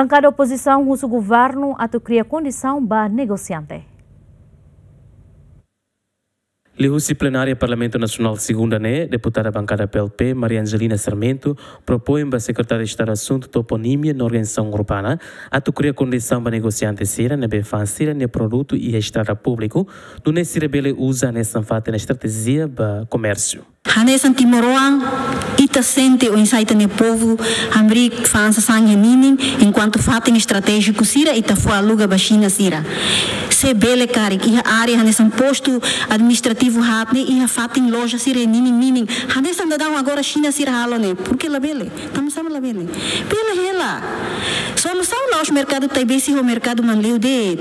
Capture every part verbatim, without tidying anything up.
Bankada opozisaun husu governu atu kria kondisaun ba negosiante. Liuhusi plenária Parlamentu Nasionál segunda ne'e, deputada bankada P L P, Maria Angelina Sarmento, propoin ba Sekretáriu Estadu Asuntu Toponímia no Organizasaun Urbana atu kria kondisaun ba negosiante sira ne'ebé fa'an sira-nia produtu iha estrada públiku, nune'e sira bele uza hanesan fatin estratéjia ba komérsiu. Hanesan timoroan, ita sente oinsá ita-nia povu hamriik fa'an sasán iha ninin, enkuantu fatin estratéjiku sira ita fó aluga ba Xina sira. Se bele karik, iha área hanesan postu administrativu haat ne'e, iha fatin loja sira iha ninin-ninin. Hanesan daudaun agora Xina sira halo ne'e, porke labele. Tanba sá mak labele? Bele hela. Solusaun la'ós merkadu Taibesi ho merkadu Manleu de'it.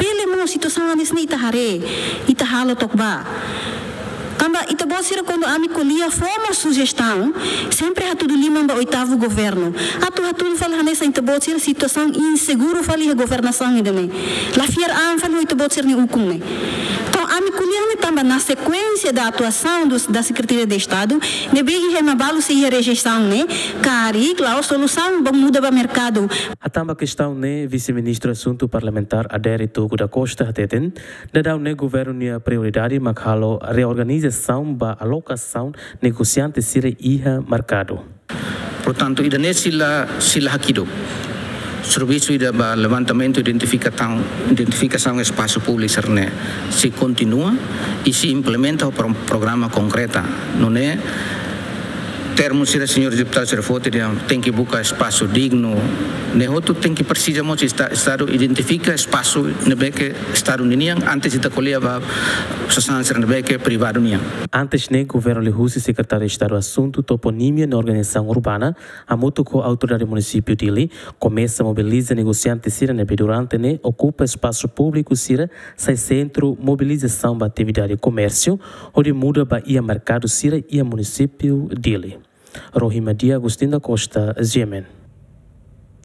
Bele mós, situasaun hanesan ne'e ita haree, ita halo took ba. Tanba ita-boot sira kuandu ami ko'alia fó mós sujestaun, sempre hatudu liman ba oitavu governu. Atu hatudu fali hanesan ita-boot sira situasaun inseguru fali iha governasaun ida-ne'e. La fiar an fali ho ita-boot sira-nia ukun ne'e. Entaun ami ko'alia ne'e tanba na sekuénsia da atuasaun dos, da Secretaria de Estado, ne'ebé iha ema balu sei iha rejeisaun ne'e, karik la'ós solusaun ba muda ba merkadu. Hatán ba kestaun ne'e, Vise-Ministru Asuntu Parlamentár Adérito Rui da Costa hateten, daudaun ne'e governu nia prioridade mak halo reorganizasaun ba alokasaun negosiante sira iha merkadu. Portantu, ida-ne'e sei la, sei la hakiduk. Servisu ida ba levantamentu, identifikasaun, identifikasaun espasu públiku sira-ne'e sei kontinua i sei implementa ho pro-, programa konkreta. Nune'e termu sira señór deputadu sira foti dehan tenke buka espasu dignu. Ne'e hotu tenke presiza mós esta-, Estadu identifika espasu ne'ebé ke Estadu ninian antes ita ko'alia ba sasán sira ne'ebé ke privadu nian. Antes ne'e, governu liuhusi Sekretáriu Estadu Asuntu Toponímia no Organizasaun Urbana, hamutuk ho Autoridade Munisípiu Dili, komesa mobiliza negosiante sira ne'ebé durante ne'e okupa espasu públiku sira sai sentru mobilizasaun ba atividade komérsiu, hodi muda ba iha merkadu sira iha Munisípiu Dili. Rohima Dia, Agostinho da Costa, G M N.